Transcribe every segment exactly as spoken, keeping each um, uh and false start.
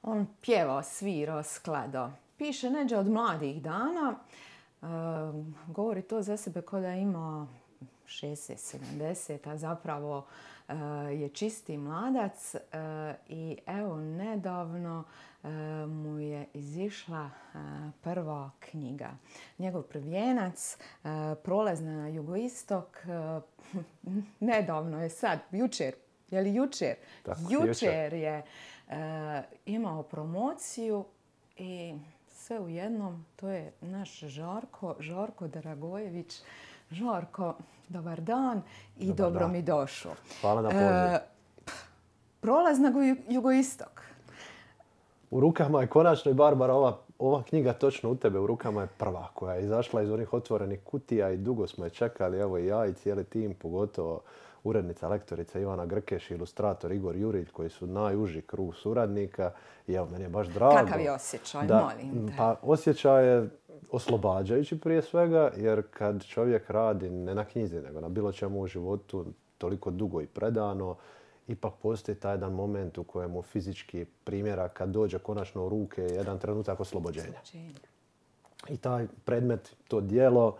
on pjevao, svirao, skladao. Piše neđe od mladih dana, e, govori to za sebe kao da ima šezdeset sedamdeset, a zapravo e, je čisti mladac e, i evo nedavno e, mu je izišla e, prva knjiga. Njegov prvijenac, e, Prolaz na jugoistok, e, nedavno je sad, jučer, je li jučer? Tako, jučer, jučer je e, imao promociju i sve u jednom, to je naš Žarko, Žarko Dragojević. Žarko, dobar dan i Dobar dobro dan. mi došao. Hvala na pozivu. E, Prolaz na jugoistok. U rukama je konačno i Barbara, ova, ova knjiga točno u tebe, u rukama je prva koja je izašla iz onih otvorenih kutija i dugo smo je čekali, evo i ja i cijeli tim, pogotovo urednica, lektorica Ivana Grkeš i ilustrator Igor Jurilj, koji su najuži krug suradnika. I evo, meni je baš drago. Kakav je osjećaj, da, molim te? Pa osjećaj je oslobađajući prije svega, jer kad čovjek radi ne na knjizi, nego na bilo čemu u životu toliko dugo i predano, ipak postoji taj jedan moment u kojemu fizički primjera kad dođe konačno u ruke jedan trenutak oslobođenja. I taj predmet, to djelo,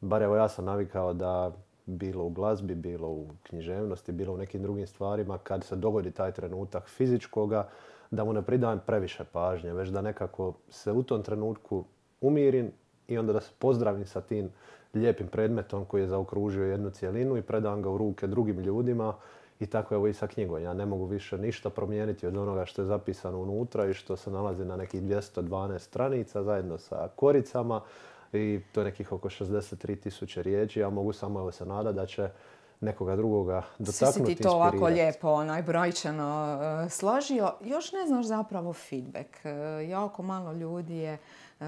bar evo ja sam navikao da bilo u glazbi, bilo u književnosti, bilo u nekim drugim stvarima, kad se dogodi taj trenutak fizičkoga, da mu ne pridajem previše pažnje, već da nekako se u tom trenutku umirim i onda da se pozdravim sa tim lijepim predmetom koji je zaokružio jednu cjelinu i predam ga u ruke drugim ljudima. I tako evo i sa knjigom. Ja ne mogu više ništa promijeniti od onoga što je zapisano unutra i što se nalazi na nekih dvjesto dvanaest stranica zajedno sa koricama. I to je nekih oko šezdeset tri tisuće riječi. Ja mogu samo evo se nadati da će nekoga drugoga dotaknuti, Svi si ti to ovako lijepo, onaj brojčano uh, složio. Još ne znaš zapravo feedback. Uh, jako malo ljudi je uh,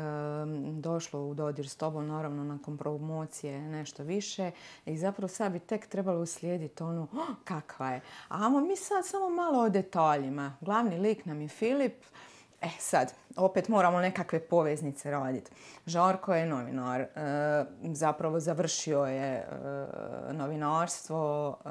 došlo u dodir s tobom, naravno nakon promocije nešto više. I zapravo sad bi tek trebalo uslijediti ono, oh, kakva je. A amo mi sad samo malo o detaljima. Glavni lik nam je Filip. E sad, opet moramo nekakve poveznice raditi. Žarko je novinar, e, zapravo završio je e, novinarstvo e,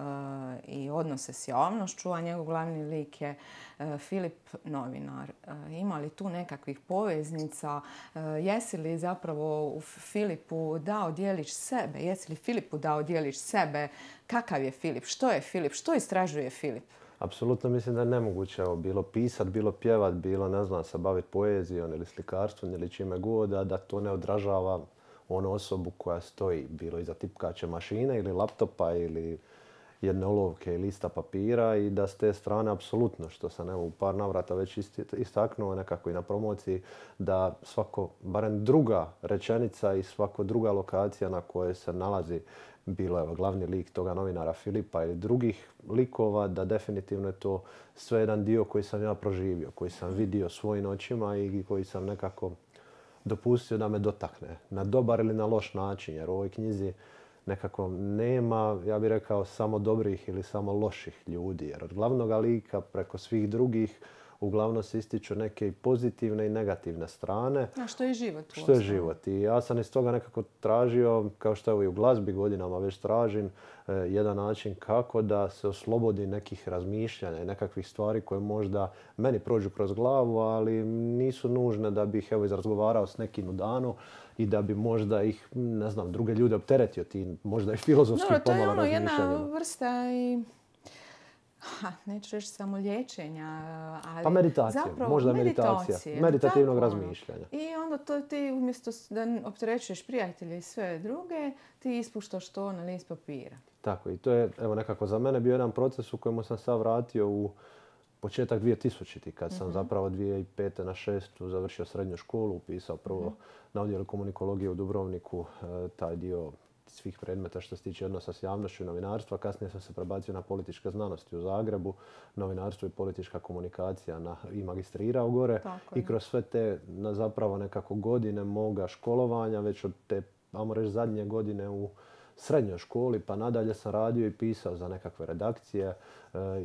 i odnose s javnošću, a njegov glavni lik je e, Filip novinar. E, ima li tu nekakvih poveznica? E, jesi li zapravo u Filipu dao dijelić sebe? Jesi li Filipu dao dijelić sebe? Kakav je Filip? Što je Filip? Što istražuje Filip? Apsolutno mislim da je nemoguće evo, bilo pisat, bilo pjevat, bilo ne znam se baviti poezijom ili slikarstvom ili čime god, a da to ne odražava onu osobu koja stoji, bilo iza tipkače mašine ili laptopa ili jedne olovke i lista papira i da s te strane apsolutno, što sam evo, u par navrata već istaknuo nekako i na promociji, da svako, barem druga rečenica i svako druga lokacija na kojoj se nalazi bilo je glavni lik toga novinara Filipa ili drugih likova, da definitivno je to sve jedan dio koji sam ja proživio, koji sam vidio svojim očima i koji sam nekako dopustio da me dotakne na dobar ili na loš način, jer u ovoj knjizi nekako nema, ja bih rekao, samo dobrih ili samo loših ljudi, jer od glavnog lika preko svih drugih uglavnom se ističu neke i pozitivne i negativne strane. A što je život? Što je život. I ja sam iz toga nekako tražio, kao što evo i u glazbi godinama već tražim, eh, jedan način kako da se oslobodi nekih razmišljanja i nekakvih stvari koje možda meni prođu kroz glavu, ali nisu nužne da bih evo izrazgovarao s nekim u danu i da bi možda ih, ne znam, druge ljude opteretio tim, možda i filozofski pomalo razmišljanjima. To je ono jedna vrsta i... Ha, neću reći samo liječenja, ali pa meditacija, zapravo možda meditacija, meditativnog tako, razmišljanja. I onda to ti umjesto da opterećuješ prijatelje i sve druge, ti ispuštaš to na list papira. Tako i to je evo nekako za mene bio jedan proces u kojemu sam sad vratio u početak dvije tisućite. Kad sam uh-huh. zapravo dvije tisuće pete na šestu završio srednju školu, upisao prvo uh-huh. na odjelu komunikologije u Dubrovniku, taj dio svih predmeta što se tiče odnosa s javnošću i novinarstva. Kasnije sam se prebacio na političke znanosti u Zagrebu, novinarstvo i politička komunikacija na, i magistrirao gore. I kroz sve te na zapravo nekako godine moga školovanja, već od te, ajmo reći, zadnje godine u srednjoj školi, pa nadalje sam radio i pisao za nekakve redakcije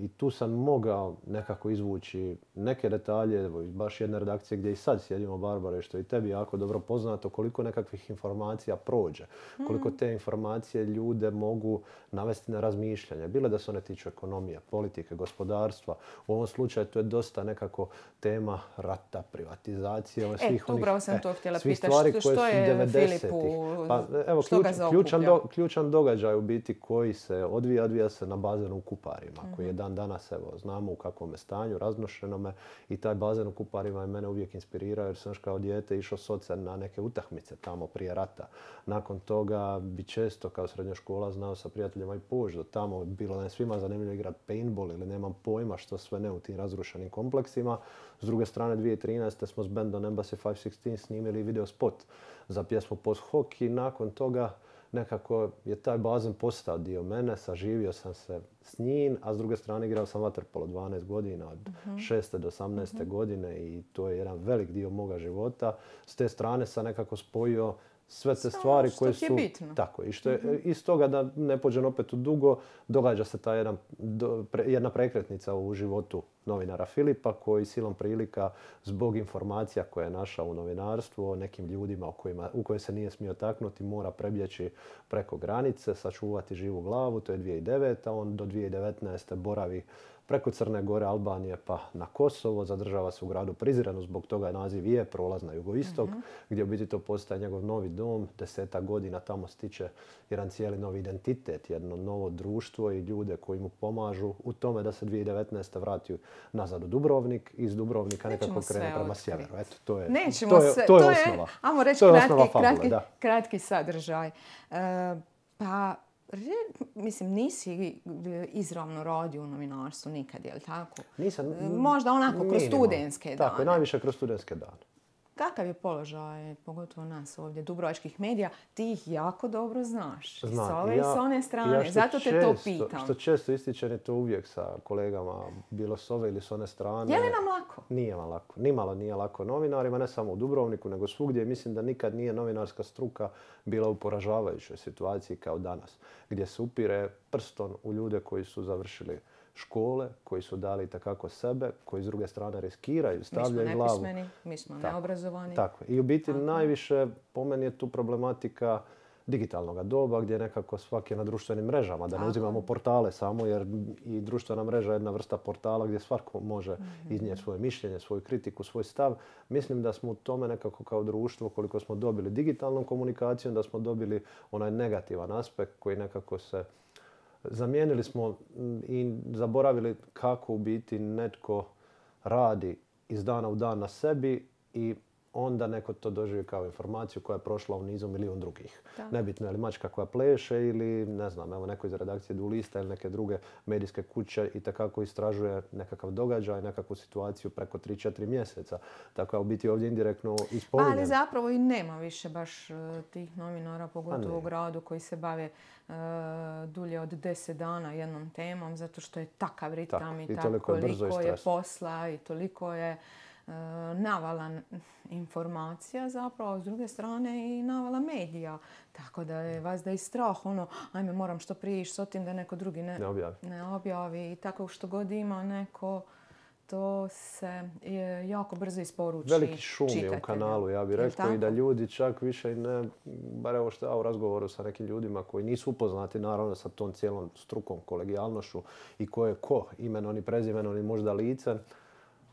i tu sam mogao nekako izvući neke detalje, baš jedne redakcije gdje i sad sjedimo, Barbara, što je i tebi jako dobro poznato, koliko nekakvih informacija prođe, koliko te informacije ljude mogu navesti na razmišljanje. Bilo da se one tiču ekonomije, politike, gospodarstva. U ovom slučaju to je dosta nekako tema rata, privatizacije, svih e, onih upravo sam to htjela svih pitati. stvari Što, koje što su je devedesetih. Filipu, Pa, evo, što ključ, ga zaokuplja? ključan, do, ključan događaj u biti koji se odvija, odvija se na bazenu u Kuparima, mm-hmm. koji je dan danas, evo, znamo u kakvom je stanju, raznošenome, i taj bazen u Kuparima je mene uvijek inspirirao jer sam još kao dijete išao s ocem na neke utakmice tamo prije rata. Nakon toga bi često kao srednjoškola znao sa prijateljima i poći do tamo, bilo nam svima zanimljivo igrati paintball ili nemam pojma što sve ne u tim razrušenim kompleksima. S druge strane, dvije tisuće trinaeste. smo s bandom Embassy five sixteen snimili video spot za pjesmu Post Hoc i nakon toga nekako je taj bazen postao dio mene, saživio sam se s njim, a s druge strane igrao sam vaterpolo dvanaest godina, od uh-huh. šeste do osamnaeste uh-huh. godine, i to je jedan velik dio moga života. S te strane sam nekako spojio sve te stvari koje su... Što je bitno. Tako, i što je uh-huh. iz toga, da ne pođem opet u dugo, događa se ta jedan, do, pre, jedna prekretnica u životu novinara Filipa, koji silom prilika zbog informacija koje je našao u novinarstvu o nekim ljudima u, kojima, u koje se nije smio taknuti, mora prebjeći preko granice, sačuvati živu glavu. To je dvije tisuće deveta. On do dvije tisuće devetnaeste. boravi preko Crne Gore, Albanije pa na Kosovo. Zadržava se u gradu Prizrenu, zbog toga je naziv je prolaz na jugoistok, mm-hmm. gdje u biti to postaje njegov novi dom. Desetak godina tamo stiče jedan cijeli novi identitet, jedno novo društvo i ljude koji mu pomažu u tome da se dvije tisuće devetnaeste. vrati nazad u Dubrovnik, iz Dubrovnika nekako krene prema sjeveru. Eto, to je, Nećemo to je, sve, to je to osnova. Je, ajmo reći, to je kratki, osnova fabule, kratki, da. kratki sadržaj. E, pa, mislim, nisi izravno radio u novinarstvu nikad, je li tako? Nisam. Možda onako kroz minimum. studentske dane. Tako je, najviše kroz studentske dane. Kakav je položaj, pogotovo nas ovdje, dubrovačkih medija? Ti ih jako dobro znaš. Znam. S ove ja, i s one strane. Ja Zato te često, to pitam. Što često ističem je to uvijek sa kolegama, bilo s ove ili s one strane. Je li nam lako? Nije vam lako. Nimalo nije lako novinarima, ne samo u Dubrovniku, nego svugdje. Mislim da nikad nije novinarska struka bila u poražavajućoj situaciji kao danas, gdje se upire prstom u ljude koji su završili škole, koji su dali takako sebe, koji s druge strane riskiraju, stavljaju glavu. Mi smo nepismeni, mi smo tako, neobrazovani. Tako. I u biti tako. Najviše po meni je tu problematika digitalnog doba, gdje nekako svaki je na društvenim mrežama, da ne uzimamo portale samo, jer i društvena mreža je jedna vrsta portala gdje svatko može mm-hmm. iznijeti svoje mišljenje, svoju kritiku, svoj stav. Mislim da smo u tome nekako kao društvo, koliko smo dobili digitalnom komunikacijom, da smo dobili onaj negativan aspekt koji nekako se zamijenili smo i zaboravili kako u biti netko radi iz dana u dan na sebi i onda neko to doživi kao informaciju koja je prošla u nizu milijun drugih. Da. Nebitno je li mačka koja pleše ili, ne znam, evo neko iz redakcije Du Lista ili neke druge medijske kuće i takako istražuje nekakav događaj, nekakvu situaciju preko tri četiri mjeseca. Tako u biti ovdje indirektno ispominjem. Ali zapravo i nema više baš tih novinara, pogotovo u gradu, koji se bave uh, dulje od deset dana jednom temom, zato što je takav ritam tako, i, i tako koliko je posla i toliko je navala informacija zapravo, s druge strane i navala medija. Tako da je vas da i strah, ono, ajme moram što prije ići s otim da neko drugi ne, ne, objavi. ne objavi. I tako što god ima neko, to se je jako brzo isporuči. Veliki šum je u kanalu, ja bih rekao, i da ljudi čak više i ne, bar evo što ja u razgovoru sa nekim ljudima koji nisu upoznati naravno sa tom cijelom strukom, kolegijalnošću i ko je ko, imenom i prezimenom i možda licem,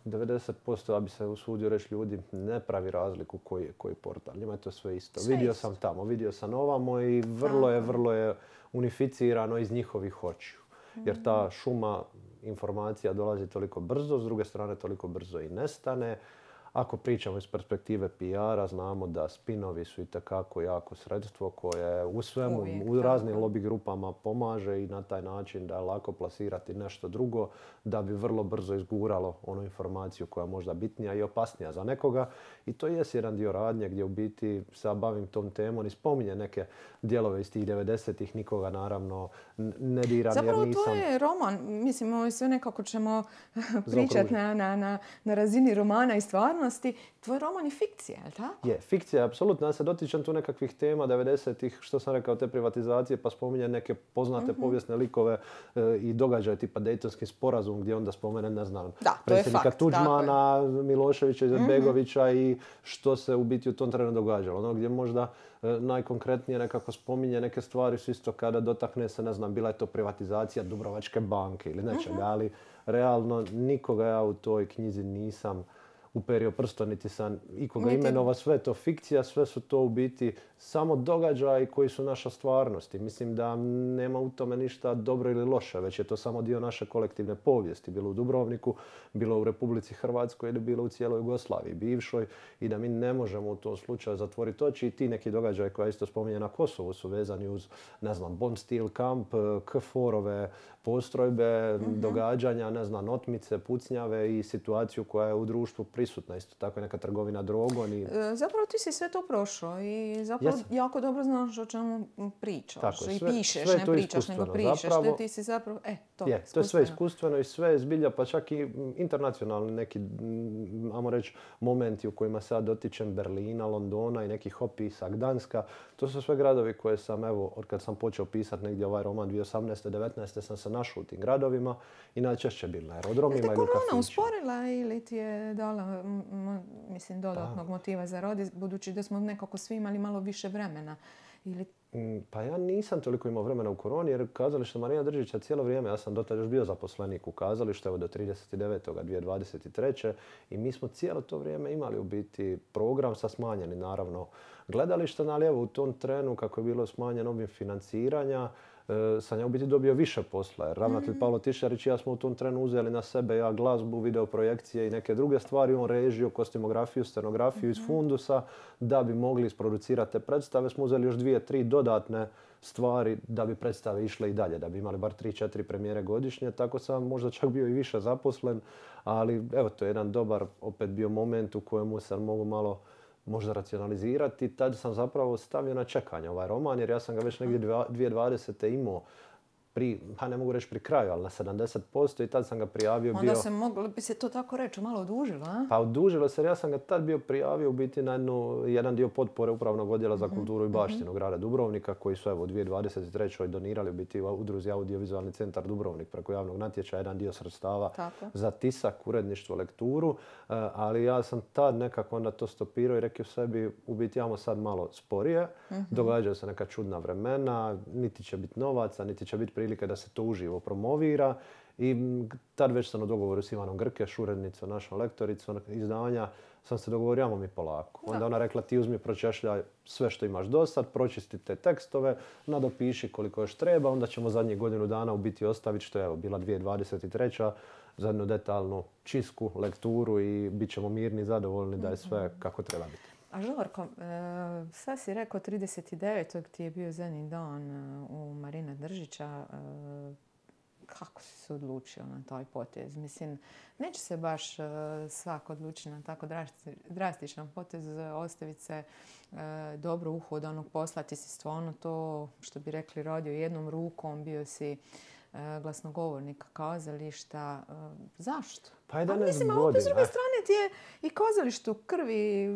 devedeset posto, ja bi se usudio reći, ljudi ne pravi razliku koji je koji portal. Njima je to sve isto. Sve vidio isto. sam tamo, vidio sam ovamo i vrlo je, vrlo je unificirano iz njihovih očiju. Jer ta šuma informacija dolazi toliko brzo, s druge strane toliko brzo i nestane. Ako pričamo iz perspektive P R-a, znamo da spinovi su itekako jako sredstvo koje u svemu, Uvijek, u raznim lobby grupama pomaže i na taj način da je lako plasirati nešto drugo, da bi vrlo brzo izguralo onu informaciju koja je možda bitnija i opasnija za nekoga. I to je jedan dio radnje gdje u biti se bavim tom temom i spominje neke dijelove iz tih devedesetih, nikoga naravno ne diram jer nisam... Zapravo to je roman. Mislim, ovo sve nekako ćemo pričati na, na, na, na razini romana i stvarno stvarnosti. Tvoj roman je fikcija, je li tako? Je, fikcija je apsolutno. Ja se dotičem tu nekakvih tema devedesetih, što sam rekao, te privatizacije, pa spominjem neke poznate mm-hmm. povijesne likove e, i događaje tipa Dejtonski sporazum gdje onda spomene, ne znam, da, predsjednika Tuđmana, Miloševića, Izetbegovića mm-hmm. i što se u biti u tom trenu događalo. Ono gdje možda e, najkonkretnije nekako spominje neke stvari su isto kada dotakne se, ne znam, bila je to privatizacija Dubrovačke banke ili nečega, mm-hmm. ali realno nikoga ja u toj knjizi nisam uperio prstom, niti sam ikoga niti... imenovao, sve to fikcija, sve su to u biti samo događaji koji su naša stvarnost. I mislim da nema u tome ništa dobro ili loše, već je to samo dio naše kolektivne povijesti, bilo u Dubrovniku, bilo u Republici Hrvatskoj ili bilo u cijeloj Jugoslaviji bivšoj i da mi ne možemo u tom slučaju zatvoriti oči i ti neki događaji koja isto spominje na Kosovu su vezani uz, ne znam, Bond Steel Camp, K F O R-ove postrojbe, mm-hmm. događanja, ne znam, otmice, pucnjave i situaciju koja je u društvu prisutna. Isto tako je neka trgovina drogom. I... Zapravo ti si sve to prošao i zapravo Jesam. jako dobro znaš o čemu pričaš. Tako, sve, i pišeš, sve ne pričaš, nego pričaš. Zapravo, ti si zapravo, e, to je, to je sve iskustveno i sve je zbilja, pa čak i internacionalni neki, ajmo reći, momenti u kojima sad dotičem Berlina, Londona i nekih opisa, Gdanska. To su sve gradovi koje sam, evo, od kad sam počeo pisati negdje ovaj roman dvije tisuće osamnaeste devetnaeste sam se našao u tim gradovima i najčešće bil na aerodromima ili u kafićima. Je te korona usporila ili ti je dala, m- mislim, dodatnog pa. motiva za rad, budući da smo nekako svi imali malo više vremena? Ili... Pa ja nisam toliko imao vremena u koroni jer kazalište Marina Držića cijelo vrijeme, ja sam dotad još bio zaposlenik u kazalištu, evo do trideset devetog dvije tisuće dvadeset treće i mi smo cijelo to vrijeme imali u biti program sa smanjenim naravno gledalištem, ali evo u tom trenu kako je bilo smanjen obim financiranja, sam ja u biti dobio više posla. Jer ravnatelj mm-hmm. Pavlo Tišarić i ja smo u tom trenu uzeli na sebe, ja glazbu, videoprojekcije i neke druge stvari, on režiju, kostimografiju, scenografiju mm-hmm. iz fundusa, da bi mogli isproducirati te predstave. Smo uzeli još dvije, tri dodatne stvari da bi predstave išle i dalje, da bi imali bar tri, četiri premijere godišnje. Tako sam možda čak bio i više zaposlen, ali evo to je jedan dobar opet bio moment u kojemu sam mogu malo možda racionalizirati. Tad sam zapravo stavio na čekanje ovaj roman jer ja sam ga već negdje dvije tisuće dvadesete imao pri, pa ne mogu reći pri kraju, ali na sedamdeset posto i tad sam ga prijavio. Onda bio... se moglo bi se to tako reći, malo odužilo, a? Pa odužilo se jer ja sam ga tad bio prijavio u biti na jednu, jedan dio potpore Upravnog odjela za kulturu mm-hmm. i baštinu grada Dubrovnika koji su evo u dvije tisuće dvadeset trećoj donirali u biti udruzi Audiovizualni centar Dubrovnik preko javnog natječaja, jedan dio sredstava tako. za tisak, uredništvo, lekturu, ali ja sam tad nekako onda to stopirao i rekao sebi u biti jamo sad malo sporije, mm-hmm. događaju se neka čudna vremena, niti će biti novaca, niti će biti prilike da se to uživo promovira i tad već sam u dogovoru s Ivanom Grkeš, urednicom, našom lektoricom izdanja, sam se dogovorio, ajmo mi polako. Onda ona rekla ti uzmi, pročešljaj sve što imaš do sad, pročisti te tekstove, nadopiši koliko još treba, onda ćemo zadnjih godinu dana u biti ostaviti što je evo, bila dvije tisuće dvadeset treća za jednu detaljnu čistku, lekturu i bit ćemo mirni, zadovoljni da je sve kako treba biti. A Žorko, sad si rekao trideset devetog ti je bio zadnji dan u Marina Držića. Kako si se odlučio na taj potez? Mislim, neće se baš svako odlučiti na tako drastičan potez, ostaviti se dobro uhodanog posla. Ti si stvarno to, što bi rekli, radio jednom rukom, bio si glasnogovornika kazališta. Zašto? Pa jedanaest mislim, godina. Mislim, s druge strane ti je i kazalištu krvi,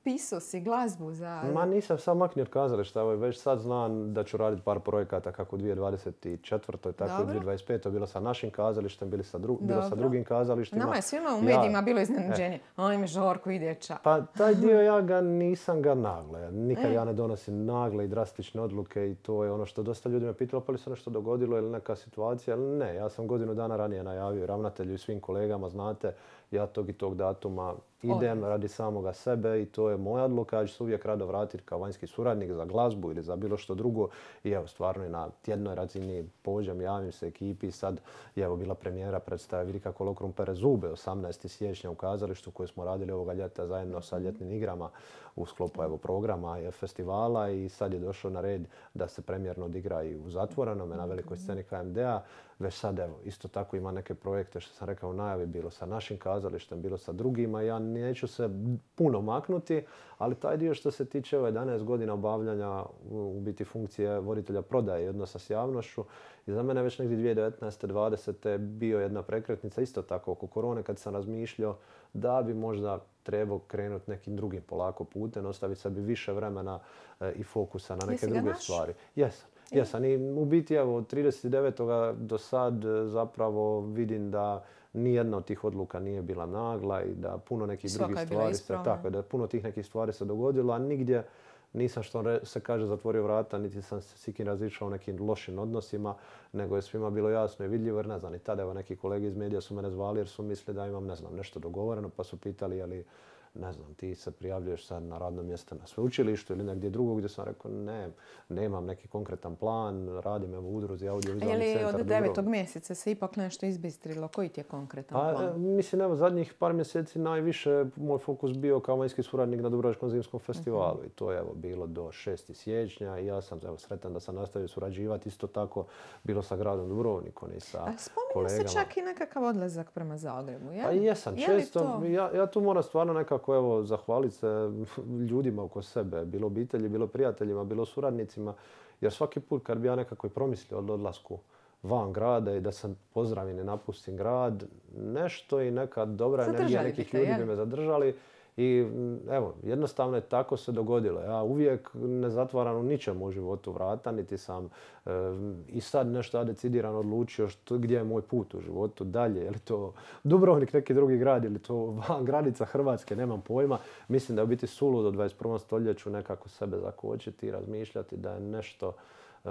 pisao si glazbu za... Ma nisam sam maknio od kazališta, evo već sad znam da ću raditi par projekata kako u dvije tisuće dvadeset četvrtoj tako i u dvije tisuće dvadeset petoj bilo sa našim kazalištem, bilo sa, dru- bilo sa drugim kazalištima. Nama je svima u medijima ja, bilo iznenađenje. Ajme, Žorko, ide ča. Pa taj dio ja ga nisam ga nagle. Nikad e. ja ne donosim nagle i drastične odluke i to je ono što dosta ljudi me pitalo pa li se nešto dogodilo ili neka situacija. Ali ne, ja sam godinu dana ranije najavio ravnatelju i svim kolegama, znate, ja tog i tog datuma idem radi samoga sebe i to je moja odluka. Ja ću se uvijek rado vratiti kao vanjski suradnik za glazbu ili za bilo što drugo. I evo, stvarno i na tjednoj razini pođem, javim se ekipi. Sad je evo bila premijera predstave Vilika Kolokrum pere zube osamnaestog siječnja u kazalištu koju smo radili ovoga ljeta zajedno sa ljetnim igrama u sklopu evo, programa i festivala i sad je došao na red da se premijerno odigra i u zatvorenome na velikoj sceni K M D-a. već sad evo, isto tako ima neke projekte što sam rekao u najavi, bilo sa našim kazalištem, bilo sa drugima. Ja neću se puno maknuti, ali taj dio što se tiče ove jedanaest godina obavljanja u biti funkcije voditelja prodaje i odnosa s javnošću, i za mene već negdje dvije tisuće devetnaeste. dvadesete bio jedna prekretnica isto tako oko korone kad sam razmišljao da bi možda trebao krenuti nekim drugim polako putem, ostaviti sebi više vremena e, i fokusa na neke druge stvari. Jesam. Jesam. I u biti evo od trideset devetog do sad zapravo vidim da nijedna od tih odluka nije bila nagla i da puno nekih drugih stvari se, tako, da puno tih nekih stvari se dogodilo, a nigdje nisam, što se kaže, zatvorio vrata, niti sam se s ikim razišao u nekim lošim odnosima, nego je svima bilo jasno i vidljivo, jer ne znam, i tada evo neki kolege iz medija su mene zvali jer su mislili da imam, ne znam, nešto dogovoreno, pa su pitali je li, ne znam, ti se prijavljuješ sad na radno mjesto na sveučilištu ili negdje drugo, gdje sam rekao ne, nemam neki konkretan plan, radim evo u udruzi Audiovizualni centar. Je li od devetog mjeseca se ipak nešto izbistrilo? Koji ti je konkretan pa, plan? Mislim, evo zadnjih par mjeseci najviše moj fokus bio kao vanjski suradnik na Dubrovačkom zimskom festivalu. Uh-huh. I to je evo bilo do šestog siječnja i ja sam evo sretan da sam nastavio surađivati isto tako bilo sa gradom Dubrovnikom i sa kolegama. Spominje se čak i nekakav odlazak prema Zagrebu, je li? Pa jesam, je često. To... Ja, ja tu moram stvarno nekako evo zahvaliti se ljudima oko sebe, bilo obitelji, bilo prijateljima, bilo suradnicima, jer svaki put kad bi ja nekako i promislio o odlasku van grada i da sam pozdravim i napustim grad, nešto i neka dobra energija nekih ljudi bi me zadržali. I evo, jednostavno je tako se dogodilo. Ja uvijek ne zatvaram u ničemu u životu vrata, niti sam e, i sad nešto decidirano odlučio što, gdje je moj put u životu dalje. Je li to Dubrovnik, neki drugi grad, ili to van granica Hrvatske, nemam pojma. Mislim da je u biti suludo u dvadeset prvom stoljeću nekako sebe zakočiti i razmišljati da je nešto e,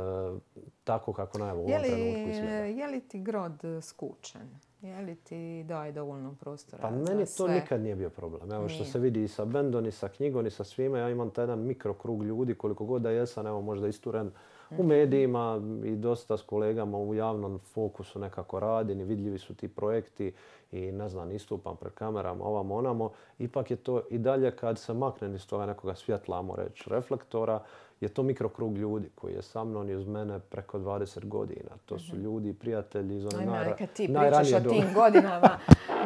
tako kako na ovom trenutku izgleda. Je li ti grad skučen? Je li ti daje dovoljno prostora pa za meni sve? To nikad nije bio problem. Evo što se vidi i sa bendom, i sa knjigom, i sa svime. Ja imam taj jedan mikrokrug ljudi, koliko god da jesam, evo možda isturen u medijima i dosta s kolegama u javnom fokusu nekako radim i vidljivi su ti projekti i ne znam, istupam pred kamerama, ovamo, onamo. Ipak je to i dalje kad se maknem iz toga nekoga svjetla, ajmo reći, reflektora, je to mikrokrug ljudi koji je sa mnom i uz mene preko dvadeset godina. To su ljudi i prijatelji iz one najra, kad ti pričaš o tim godinama,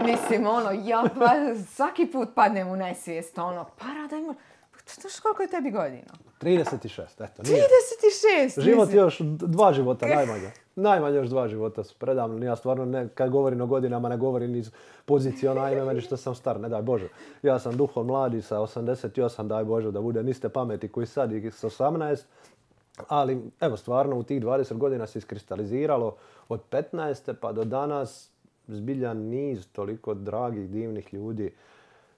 mislim, ono, ja svaki put padnem u nesvijest, ono, para da ima... Znaš koliko je tebi godina? trideset šest, eto. Nije. trideset šest! Život još dva života, najmanje. Najmanje još dva života su predavno. Ja stvarno, ne, kad govorim o godinama, ne govorim iz pozicije ono, ajme meni što sam star, ne daj Bože. Ja sam duhom mladi sa osamdeset osam, daj Bože da bude niste pameti koji sad i s osamnaest. Ali evo, stvarno u tih dvadeset godina se iskristaliziralo od petnaeste pa do danas zbiljan niz toliko dragih, divnih ljudi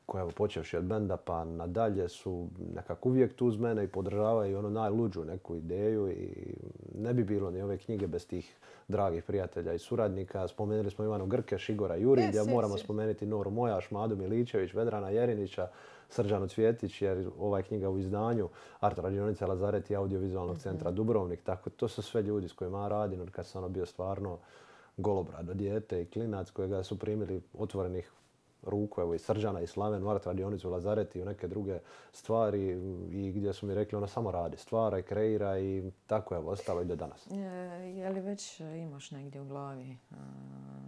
koji, evo, počevši od benda pa nadalje, su nekako uvijek tu uz mene i podržavaju ono najluđu neku ideju i ne bi bilo ni ove knjige bez tih dragih prijatelja i suradnika. Spomenuli smo Ivanu Grkeš, Igora Jurića, yes, moramo yes, spomenuti Noru Mojaš, Madu Miličević, Vedrana Jerinića, Srđanu Cvjetić, jer ova knjiga u izdanju Art radionica Lazaret i Audiovizualnog centra Dubrovnik. Tako, to su sve ljudi s kojima ja radim, od kad sam ono bio stvarno golobrado dijete i klinac kojega su primili otvorenih ruku, evo i Srđana i Slaven, u Art radionicu Lazaret i u neke druge stvari i gdje su mi rekli ona samo radi, stvara i kreira i tako je ostalo i do danas. Je, je li već imaš negdje u glavi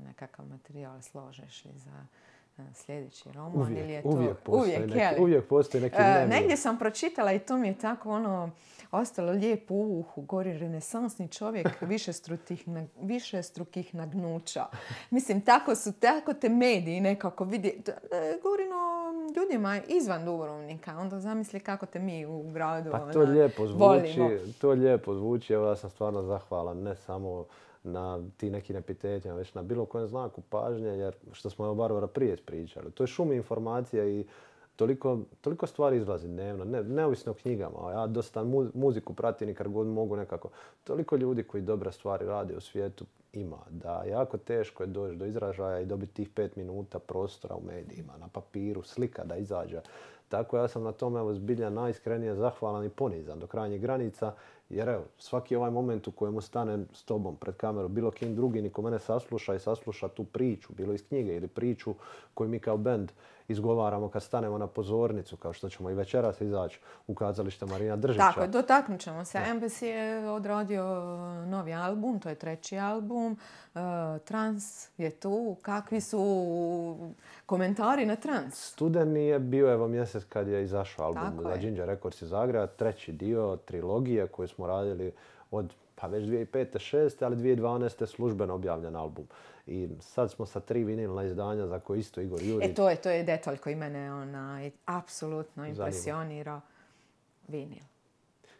nekakav materijal, složeš li za sljedeći roman? Uvijek, ili je to... uvijek postoji uvijek, neki, uvijek postoji neki dnevni. Negdje sam pročitala i to mi je tako ono ostalo lijepo u uhu, gori renesansni čovjek višestrukih, višestrukih nagnuća. Mislim, tako su, tako te mediji nekako vidi. Govorim o ljudima izvan Dubrovnika, onda zamisli kako te mi u gradu pa to ona, lijepo zvuči, volimo. To lijepo zvuči, evo ja sam stvarno zahvalan, ne samo na ti nekim epitetima, već na bilo kojem znaku pažnje, jer što smo o Barbara prije pričali. To je šum informacija i toliko, toliko stvari izlazi dnevno, ne, neovisno o knjigama. Ja dosta mu, muziku pratim i kad god mogu nekako. Toliko ljudi koji dobre stvari rade u svijetu ima, da jako teško je doći do izražaja i dobiti tih pet minuta prostora u medijima, na papiru, slika da izađe. Tako ja sam na tome evo zbilja najiskrenije zahvalan i ponizan do krajnjih granica, Jer evo, svaki ovaj moment u kojemu stanem s tobom pred kamerom, bilo kim drugi, niko mene sasluša i sasluša tu priču, bilo iz knjige ili priču koju mi kao bend izgovaramo kad stanemo na pozornicu, kao što ćemo i večeras izaći u kazalište Marina Držića. Tako, dotaknut ćemo se. Embassy je odradio novi album, to je treći album. Uh, Trans je tu. Kakvi su komentari na Trans? Studeni je bio evo mjesec kad je izašao album Tako za je. Ginger Records iz Zagreba, treći dio trilogije koju smo radili od pa već dvije tisuće pete šeste ali dvije tisuće dvanaeste službeno objavljen album. I sad smo sa tri vinilna izdanja za koje isto Igor Jurić. E, to je, to je detalj koji mene onaj, apsolutno impresionira. Vinil.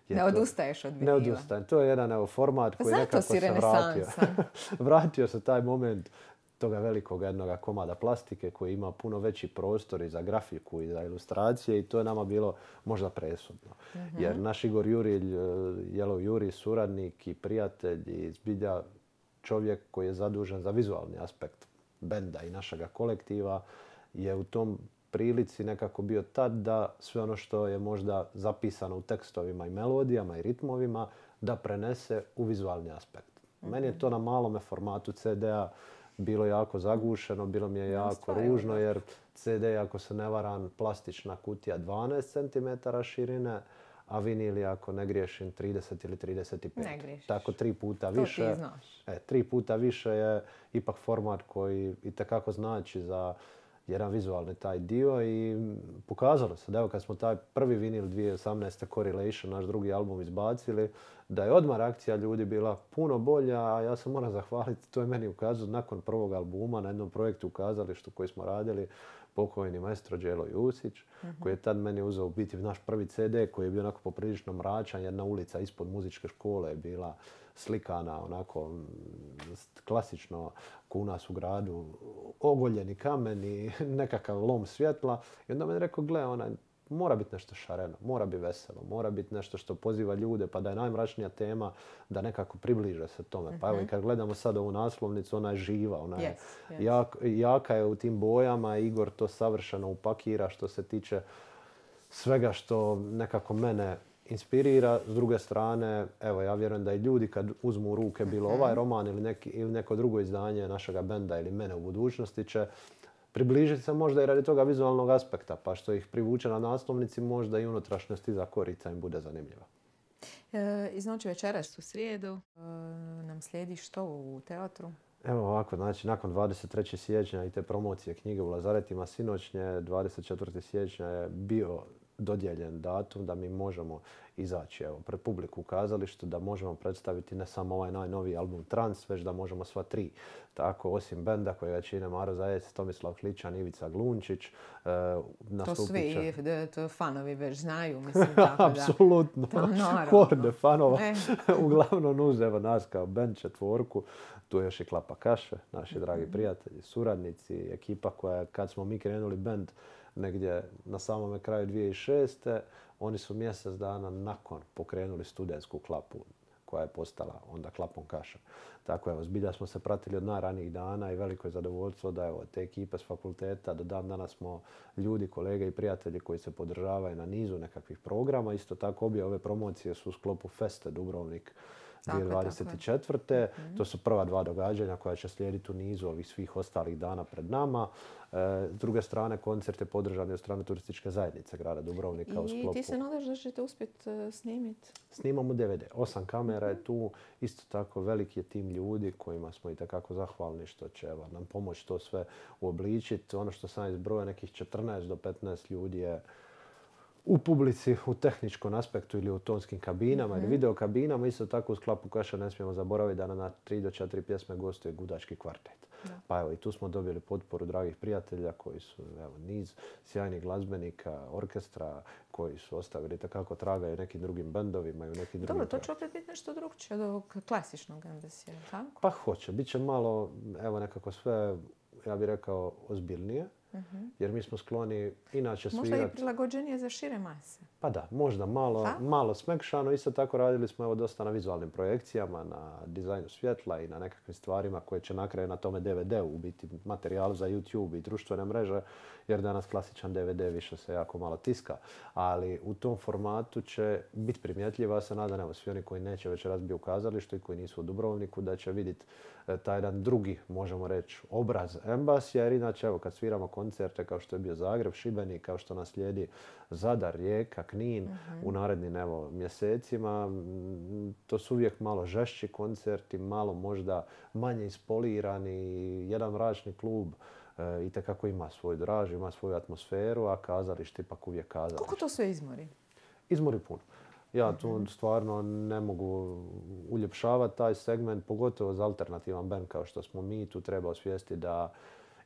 Je ne to- odustaješ od vinila. Ne odustajem. To je jedan evo, format Pa koji zato nekako si se vratio. renesansan. Vratio se taj moment toga velikog jednoga komada plastike koji ima puno veći prostor i za grafiku i za ilustracije i to je nama bilo možda presudno. Jer naš Igor Jurilj, eh, Jelov Juri, suradnik i prijatelj i zbilja čovjek koji je zadužen za vizualni aspekt benda i našega kolektiva je u tom prilici nekako bio tad da sve ono što je možda zapisano u tekstovima i melodijama i ritmovima da prenese u vizualni aspekt. Meni je to na malome formatu ce de a bilo jako zagušeno, bilo mi je jako stvarno, ružno da. jer ce de je, ako se ne varam, plastična kutija dvanaest centimetara širine, a vinil je, ako ne griješim, trideset ili trideset pet. Ne griješiš. Tako tri puta To ti više. znaš. E, tri puta više je ipak format koji itekako znači za jedan vizualni taj dio i pokazalo se da evo kad smo taj prvi vinil dvije tisuće osamnaeste Correlation, naš drugi album izbacili, da je odmah reakcija ljudi bila puno bolja, a ja se moram zahvaliti, to je meni ukazao nakon prvog albuma na jednom projektu u kazalištu koji smo radili, pokojni maestro Đelo Jusić, koji je tad meni uzeo u biti naš prvi ce de koji je bio onako poprilično mračan, jedna ulica ispod muzičke škole je bila slikana onako mm, klasično ko u nas u gradu, ogoljeni kamen i nekakav lom svjetla. I onda meni rekao, gle, onaj, mora biti nešto šareno, mora biti veselo, mora biti nešto što poziva ljude, pa da je najmračnija tema da nekako približe se tome. Pa evo i kad gledamo sad ovu naslovnicu, ona je živa, ona je Yes, yes. jak- jaka je u tim bojama. Igor to savršeno upakira što se tiče svega što nekako mene inspirira. S druge strane, evo ja vjerujem da i ljudi kad uzmu u ruke bilo ovaj roman ili, neki, ili neko drugo izdanje našega benda ili mene u budućnosti će približiti se možda i radi toga vizualnog aspekta, pa što ih privuče na naslovnici možda i unutrašnjost iza korica im bude zanimljiva. E, iz noći večeras u srijedu e, nam slijedi što u teatru? Evo ovako, znači nakon dvadeset trećeg siječnja i te promocije knjige u Lazaretima sinoćnje, dvadeset četvrtog siječnja je bio dodijeljen datum da mi možemo izaći evo, pred publiku u kazalištu, da možemo predstaviti ne samo ovaj najnoviji album Trans, već da možemo sva tri. Tako, osim benda koje čine Maro Zajec, Tomislav Kličan, Ivica Glunčić, e, To nastupit će... svi de, to fanovi već znaju, mislim tako da. Apsolutno. To naravno. Horde fanova. E. Uglavnom uz evo nas kao band četvorku. Tu je još i Klapa Kaše, naši dragi prijatelji, suradnici, ekipa koja, kad smo mi krenuli band negdje na samome kraju dvije tisuće šeste. Oni su mjesec dana nakon pokrenuli studentsku Klapu koja je postala onda Klapom Kaša. Tako evo, zbilja smo se pratili od najranijih dana i veliko je zadovoljstvo da evo, te ekipe s fakulteta do dan danas smo ljudi, kolege i prijatelji koji se podržavaju na nizu nekakvih programa. Isto tako obje ove promocije su u sklopu Feste Dubrovnik Tako je, dvije tisuće dvadeset četvrte. To su prva dva događanja koja će slijediti u nizu ovih svih ostalih dana pred nama. E, s druge strane, koncert je podržan od strane turističke zajednice grada Dubrovnika u I sklopu. ti se nadaš da ćete uspjeti uh, snimiti? Snimamo de ve de. Osam kamera je tu. Isto tako veliki je tim ljudi kojima smo i takako zahvalni što će evo, nam pomoći to sve uobličiti. Ono što sam izbrojao, nekih četrnaest do petnaest ljudi je u publici, u tehničkom aspektu ili u tonskim kabinama ili video kabinama. Isto tako u Klapu Kaša ne smijemo zaboraviti da na tri do četiri pjesme gostuje Gudački kvartet. Da. Pa evo i tu smo dobili potporu dragih prijatelja koji su evo, niz sjajnih glazbenika, orkestra koji su ostavili takako traga i u nekim drugim bendovima i u nekim drugim... Dobro, to će opet biti nešto drugčije od ovog klasičnog Embassya, tako? Pa hoće. Biće malo, evo nekako sve, ja bih rekao, ozbiljnije. Jer mi smo skloni inače Možda svirati... i prilagođenije za šire mase. Pa da, možda malo, malo smekšano. Isto tako radili smo evo dosta na vizualnim projekcijama, na dizajnu svjetla i na nekakvim stvarima koje će na kraju na tome D V D-u u biti materijalu za YouTube i društvene mreže, jer danas klasičan D V D više se jako malo tiska. Ali u tom formatu će biti primjetljiva, se nadam, evo svi oni koji neće večeras biti u kazalištu i koji nisu u Dubrovniku, da će vidjeti taj jedan drugi, možemo reći, obraz Embassija, jer inače, evo, kad sviramo koncerte kao što je bio Zagreb, Šibenik, kao što nas slijedi Zadar, Rijeka, Knin uh-huh. u narednim, evo, mjesecima, to su uvijek malo žešći koncerti, malo možda manje ispolirani, jedan mračni klub e, itekako ima svoj draž, ima svoju atmosferu, a kazalište ipak uvijek kazalište. Koliko to sve izmori? Izmori puno. Ja tu stvarno ne mogu uljepšavati taj segment, pogotovo za alternativan bend kao što smo mi. Tu treba osvijestiti da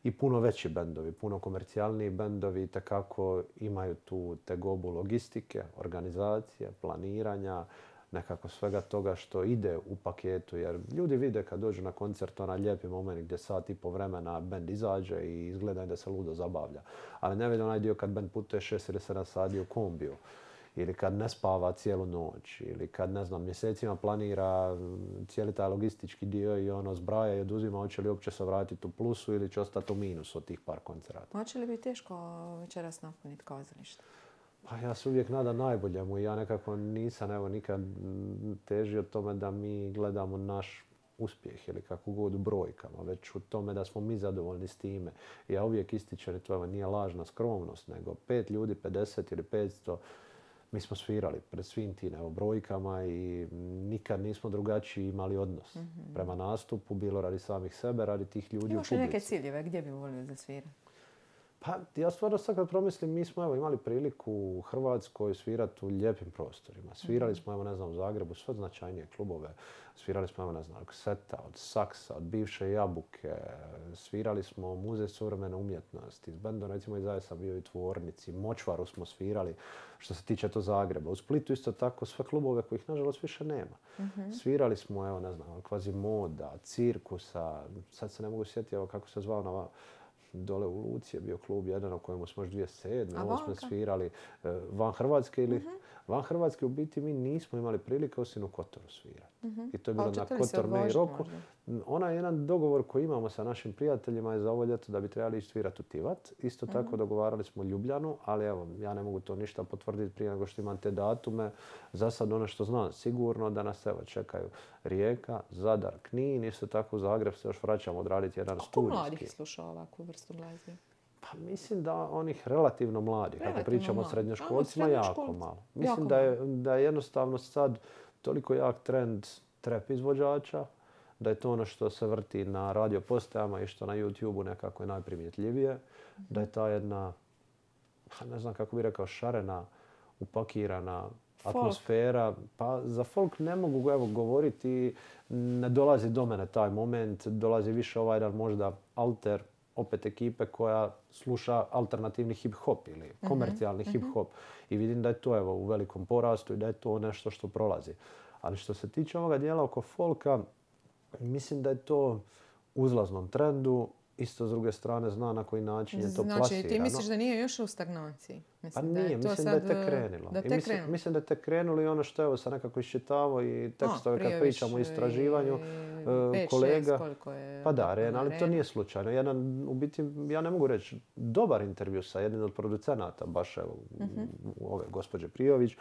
i puno veći bendovi, puno komercijalniji bendovi itekako imaju tu tegobu logistike, organizacije, planiranja, nekako svega toga što ide u paketu. Jer ljudi vide kad dođu na koncert onaj lijepi moment gdje sat i po vremena bend izađe i izgleda da se ludo zabavlja. Ali ne vidi onaj dio kad bend putuje šest ili sedam sati u kombiju. Ili kad ne spava cijelu noć, ili kad, ne znam, mjesecima planira cijeli taj logistički dio i ono zbraja i oduzima, hoće li uopće se vratiti u plusu ili će ostati u minusu od tih par koncerata. Hoće li biti teško večeras napuniti kazalište? Pa ja se uvijek nadam najboljemu i ja nekako nisam evo nikad težio tome da mi gledamo naš uspjeh ili kako god u brojkama, već u tome da smo mi zadovoljni s time. Ja uvijek ističem, to nije lažna skromnost, nego pet ljudi, pedeset ili petsto, mi smo svirali pred svim tim brojkama i nikad nismo drugačiji imali odnos mm-hmm. prema nastupu, bilo radi samih sebe, radi tih ljudi Imaš u publici. Imaš li neke ciljeve? Gdje bi volio da svira? Pa ja stvarno sad kad promislim, mi smo evo, imali priliku u Hrvatskoj svirati u lijepim prostorima. Svirali mm-hmm. smo, evo, ne znam, u Zagrebu sve značajnije klubove. Svirali smo, evo, ne znam, od Seta, od Saksa, od bivše Jabuke. Svirali smo u Muzej suvremene umjetnosti. S bendom, recimo, i zajedno sam bio i Tvornici. Močvaru smo svirali, što se tiče to Zagreba. U Splitu isto tako sve klubove kojih, nažalost, više nema. Mm-hmm. Svirali smo, evo, ne znam, Kvazimoda, Cirkusa. Sad se ne mogu sjetiti, evo, kako se zvao na dole u Luci je bio klub jedan u kojemu smo još dvije tisuće sedme. Ovo smo svirali van Hrvatske ili uh-huh. van Hrvatske u biti mi nismo imali prilike osim u Kotoru svirati. Uh-huh. I to je bilo na Kotor May Roku. Onaj jedan dogovor koji imamo sa našim prijateljima je za ovo ljeto da bi trebali ići svirati u Tivat. Isto uh-huh. tako dogovarali smo Ljubljanu, ali evo, ja ne mogu to ništa potvrditi prije nego što imam te datume. Za sad ono što znam sigurno da nas evo čekaju Rijeka, Zadar, Knin, isto tako u Zagreb se još vraćamo odraditi jedan studijski. Koliko mladih sluša ovakvu vrstu glazbe? Pa mislim da onih relativno mladih, relativno ako pričamo mladi. O srednjoškolcima, jako malo. Mislim jako da, je, da je jednostavno sad toliko jak trend trap izvođača, da je to ono što se vrti na radio postajama i što na YouTubeu nekako je najprimjetljivije, mm-hmm. da je ta jedna, ne znam kako bih rekao, šarena, upakirana folk. Atmosfera. Pa za folk ne mogu evo, govoriti, ne dolazi do mene taj moment, dolazi više ovaj jedan možda alter, opet ekipe koja sluša alternativni hip-hop ili komercijalni mm-hmm. hip-hop. I vidim da je to evo, u velikom porastu i da je to nešto što prolazi. Ali što se tiče ovoga dijela oko folka, mislim da je to u uzlaznom trendu. Isto s druge strane zna na koji način je to znači, plasirano. Znači ti misliš da nije još u stagnaciji? Mislim, pa nije, da je to mislim sad, da je tek krenulo. Da I mislim, krenulo. mislim da je tek krenulo i ono što evo sam nekako iščitavao i tekstove kad pričamo o istraživanju pet, kolega. Šest, je pa da, Ren, ali to nije slučajno. Jedan, u biti, ja ne mogu reći, dobar intervju sa jednim od producenata, baš evo, uh-huh. ove gospođe Prijović,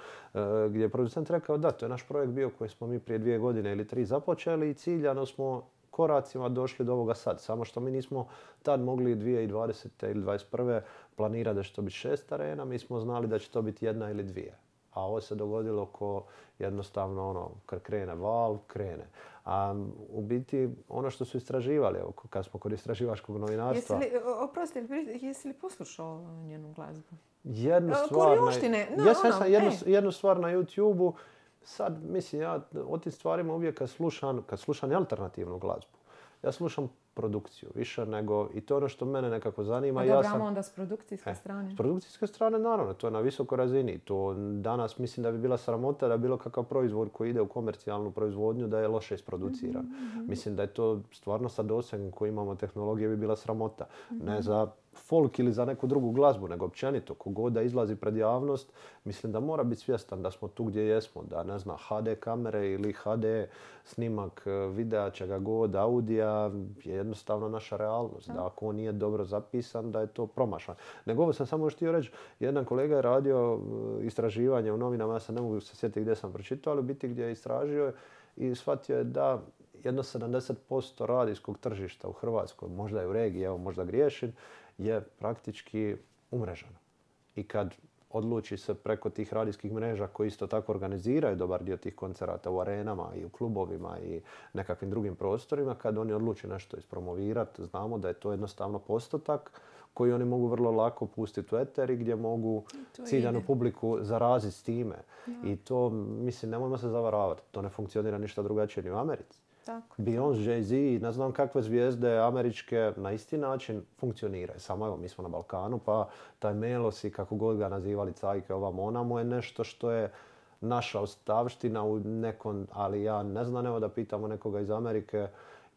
gdje je producent rekao da, to je naš projekt bio koji smo mi prije dvije godine ili tri započeli i ciljano smo koracima došli do ovoga sad. Samo što mi nismo tad mogli dvije tisuće dvadesete ili dvadeset prve planirati da će to biti šest arena, mi smo znali da će to biti jedna ili dvije. A ovo se dogodilo ko jednostavno ono, kad krene val, krene. A u biti ono što su istraživali, evo, kad smo kod istraživačkog novinarstva... Jesi li, oprosti, jesi li poslušao njenu glazbu? Jednu stvar na, no, jesam, ono, jednu, jednu stvar na YouTubeu. Sad, mislim, ja o tim stvarima uvijek kad slušam, kad slušam alternativnu glazbu, ja slušam produkciju. Više nego, i to je ono što mene nekako zanima. A ja dobro, sam, onda s produkcijske e, strane? S produkcijske strane, naravno, to je na visokoj razini. To danas mislim da bi bila sramota da bilo kakav proizvod koji ide u komercijalnu proizvodnju da je loše isproduciran. Mm-hmm. Mislim da je to stvarno sa dosegom koji imamo tehnologije bi bila sramota. Mm-hmm. Ne za folk ili za neku drugu glazbu, nego općenito. Kogod da izlazi pred javnost, mislim da mora biti svjestan da smo tu gdje jesmo. Da, ne znam, ha de kamere ili ha de snimak videa, čega god, audija, je jednostavno naša realnost. Da ako on nije dobro zapisan, da je to promašan. Nego ovo sam samo htio reći, jedan kolega je radio istraživanje u novinama, ja se ne mogu se sjetiti gdje sam pročitao, ali biti gdje je istražio i shvatio je da jedno sedamdeset posto radijskog tržišta u Hrvatskoj, možda je u regiji, evo možda griješim, je praktički umreženo. I kad odluči se preko tih radijskih mreža koji isto tako organiziraju dobar dio tih koncerata u arenama i u klubovima i nekakvim drugim prostorima, kad oni odluči nešto ispromovirati, znamo da je to jednostavno postotak koji oni mogu vrlo lako pustiti u eter i gdje mogu ciljanu publiku zaraziti s time. Ja. I to, mislim, nemojmo se zavaravati. To ne funkcionira ništa drugačije ni u Americi. Tako. Beyoncé, Jay-Z, ne znam kakve zvijezde američke na isti način funkcioniraju. Samo evo, mi smo na Balkanu, pa taj Melos i kako god ga nazivali cajke ovamo onamo je nešto što je naša ostavština u nekom, ali ja ne znam, evo da pitamo nekoga iz Amerike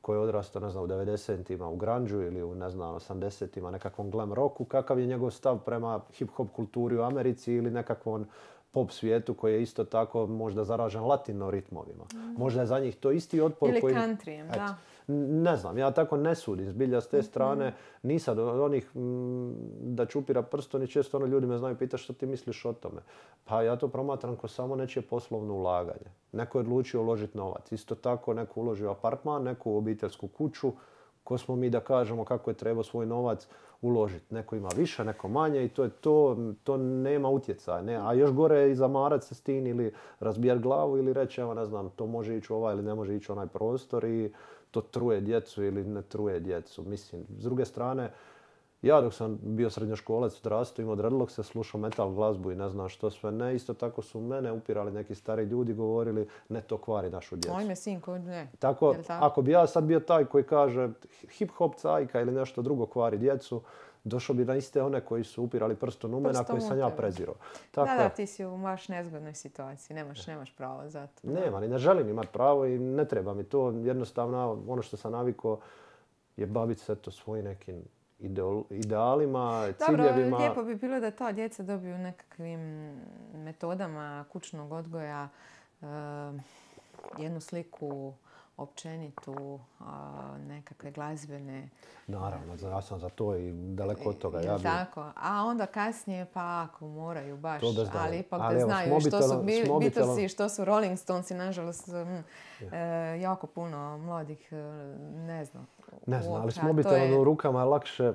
koji je odrastao, ne znam, u devedesetima u grunge-u ili u, ne znam, osamdesetima nekakvom glam rocku, kakav je njegov stav prema hip-hop kulturi u Americi ili nekakvom pop svijetu koji je isto tako možda zaražen latino ritmovima. Mm. Možda je za njih to isti otpor ili koji... Ili countryjem, da. Ne znam, ja tako ne sudim. Zbilja s te strane mm-hmm. nisam od onih m, da čupira prstom i često ono ljudi me znaju pitati što ti misliš o tome. Pa ja to promatram kao samo nečije poslovno ulaganje. Neko je odlučio uložiti novac. Isto tako neko uloži u apartman, neko u obiteljsku kuću. Ko smo mi da kažemo kako je trebao svoj novac uložiti. Neko ima više, neko manje i to je to, to nema utjecaja. Ne? A još gore je i zamarat se s tim ili razbijati glavu ili reći, evo ne znam, to može ići u ovaj ili ne može ići u onaj prostor i to truje djecu ili ne truje djecu. Mislim, s druge strane, ja dok sam bio srednjoškolac odrastao, imao dreadlockse, slušao metal glazbu i ne znam što sve ne. Isto tako su mene upirali neki stari ljudi, govorili ne to kvari našu djecu. Oj me sinko, ne. Tako, tako, ako bi ja sad bio taj koji kaže hip-hop cajka ili nešto drugo kvari djecu, došao bi na iste one koji su upirali prstom u mene, a koji sam ja prezirao. Tako, da, da, ti si u baš nezgodnoj situaciji, nemaš, nemaš pravo za to. Nema, ni ne želim imati pravo i ne treba mi to. Jednostavno, ono što sam navikao je baviti se to svojim nekim idealima, ciljevima. Dobro, lijepo bi bilo da ta djeca dobiju nekakvim metodama kućnog odgoja uh, jednu sliku općenitu, a, nekakve glazbene... Naravno, ja sam za to i daleko od toga. Ja bi... Tako, a onda kasnije pa ako moraju baš, ali ipak ali da evo, znaju što su Beatlesi, što su Rolling Stonesi, nažalost, m, e, jako puno mladih ne zna. Ne znam, ali s mobitelom je... u rukama je lakše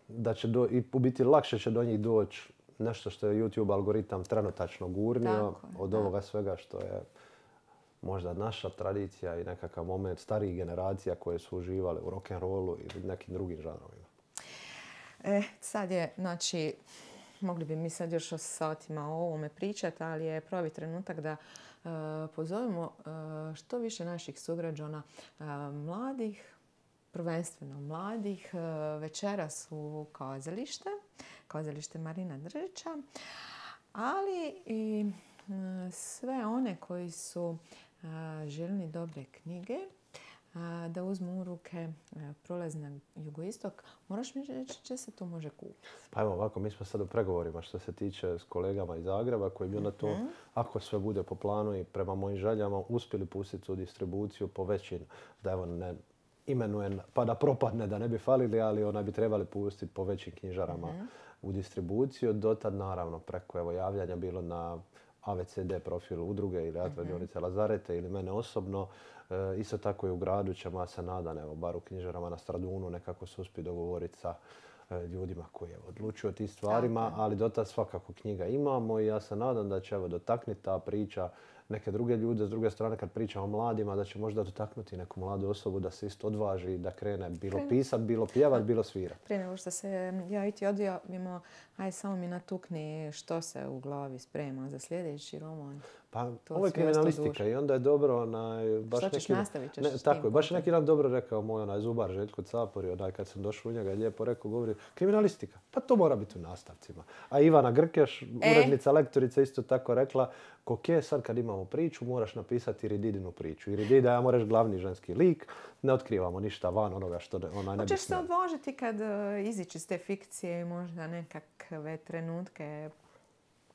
da će do, i u biti lakše će do njih doći nešto što je YouTube algoritam trenutačno gurnio tako, od tako. ovoga svega što je možda naša tradicija i nekakav moment starijih generacija koje su uživale u rock'n'rollu ili nekim drugim žanrovima. E, sad je, znači, mogli bi mi sad još o satima o ovome pričati, ali je pravi trenutak da uh, pozovemo uh, što više naših sugrađana uh, mladih, prvenstveno mladih, uh, večeras u kazalište, kazalište Marina Držića, ali i uh, sve one koji su željni dobre knjige, da uzmu u ruke Prolaz na jugoistok. Moraš mi reći će se to može kupiti? Pa evo ovako, mi smo sad u pregovorima što se tiče s kolegama iz Zagreba koji bi onda to, mm-hmm. ako sve bude po planu i prema mojim željama, uspjeli pustiti u distribuciju po većin, da evo ne imenujem pa da propadne, da ne bi falili, ali ona bi trebali pustiti po većim knjižarama mm-hmm. u distribuciju. Dotad naravno preko evo, javljanja bilo na A V C D profil udruge ili Radionice Lazarete ili mene osobno. E, isto tako i u gradu ćemo, ja se nadam, evo, bar u knjižarama na Stradunu nekako se uspije dogovoriti sa e, ljudima koji evo, odlučuju o tim stvarima, tako. Ali dotad svakako knjiga imamo i ja se nadam da će evo, dotakniti ta priča neke druge ljude. S druge strane, kad pričamo o mladima, da će možda dotaknuti neku mladu osobu da se isto odvaži, da krene bilo pisat, bilo pjevat, bilo svirat. Prije nego što se ja i ti odjavimo, aj samo mi natukni što se u glavi sprema za sljedeći roman. Pa ovo je kriminalistika i onda je dobro onaj... Baš što ćeš neki, nastavit ćeš ne, s tako tim je, baš putem. neki nam dobro rekao moj onaj zubar Željko Capori, onaj kad sam došao u njega je lijepo rekao, govori kriminalistika, pa to mora biti u nastavcima. A Ivana Grkeš, urednica, lektorica, isto tako rekla, ok, sad kad imamo priču, moraš napisati Irididinu priču. Iridida, ja moraš glavni ženski lik, ne otkrivamo ništa van onoga što ona ne bi Hoćeš se smjela. odvažiti kad uh, izići iz te fikcije i možda nekakve trenutke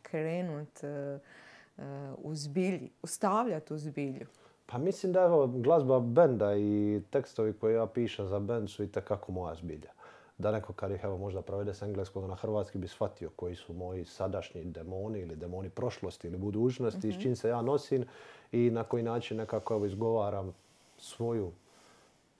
krenut uh, uh, u zbilji, ustavljati u zbilju. Pa mislim da evo, glazba benda i tekstovi koje ja pišem za bend su itekako moja zbilja. Da neko kad ih evo možda provede s engleskog na hrvatski bi shvatio koji su moji sadašnji demoni ili demoni prošlosti ili budućnosti, mm-hmm. s čim se ja nosim i na koji način nekako evo izgovaram svoju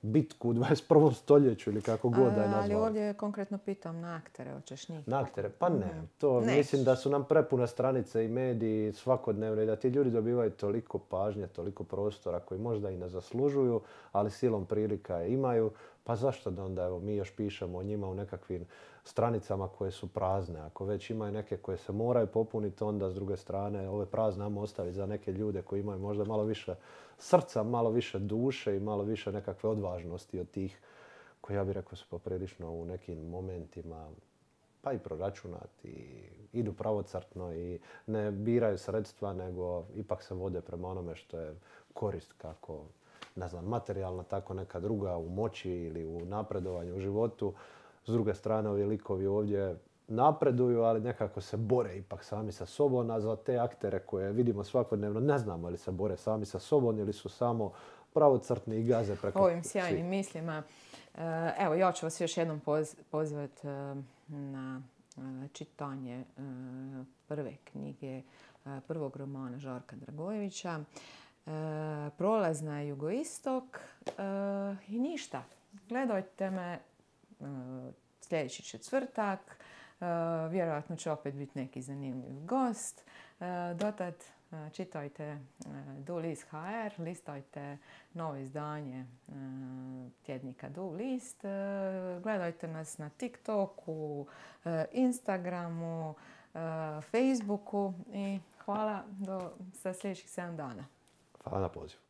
bitku u dvadeset prvom stoljeću ili kako god da je nazvao. Ali ovdje konkretno pitam na aktere, hoćeš njih? Na aktere? Pa ne. Mm. To Neš. Mislim da su nam prepune stranice i mediji svakodnevno i da ti ljudi dobivaju toliko pažnje, toliko prostora koji možda i ne zaslužuju, ali silom prilika je imaju. Pa zašto da onda evo, mi još pišemo o njima u nekakvim stranicama koje su prazne. Ako već imaju neke koje se moraju popuniti, onda s druge strane ove prazne nam ostaviti za neke ljude koji imaju možda malo više srca, malo više duše i malo više nekakve odvažnosti od tih koji ja bih rekao su poprilično u nekim momentima pa i proračunati, i idu pravocrtno i ne biraju sredstva, nego ipak se vode prema onome što je korist kako, ne znam, materijalna, tako neka druga u moći ili u napredovanju u životu. S druge strane, ovi likovi ovdje napreduju, ali nekako se bore ipak sami sa sobom, a za te aktere koje vidimo svakodnevno ne znamo ili se bore sami sa sobom ili su samo pravocrtni i gaze preko ovim sjajnim svih. mislima. Evo, ja ću vas još jednom poz- pozivati na čitanje prve knjige, prvog romana Žarka Dragojevića. Prolazna jugoistok i ništa. Gledajte me sljedeći četvrtak. Vjerojatno će opet biti neki zanimljiv gost. Dotad čitajte Du List ha er, listajte novo izdanje tjednika Du List. Gledajte nas na TikToku, Instagramu, Facebooku i hvala do sa sljedećih sedam dana. Hvala na pozivu.